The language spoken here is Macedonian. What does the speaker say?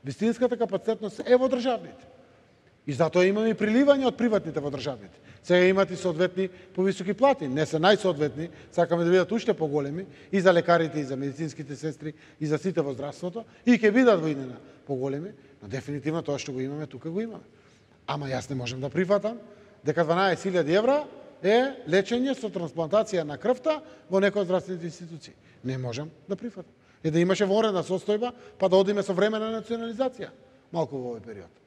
Вистинската капацитетност е во државните. И затоа имаме и приливање од приватните во државните. Сега имат и соодветни повисоки плати, не се најсоодветни, сакаме да бидат уште поголеми и за лекарите, и за медицинските сестри, и за сите во здравството, и ќе бидат во иднина поголеми, но дефинитивно тоа што го имаме, тука го имаме. Ама јас не можам да прифатам дека 12.000 евра е лечење со трансплантација на крвта во некој од здравствените институции. Не можам да прифатам. Да имаше вонредна состојба, па да одиме со времена национализација малку во овој период.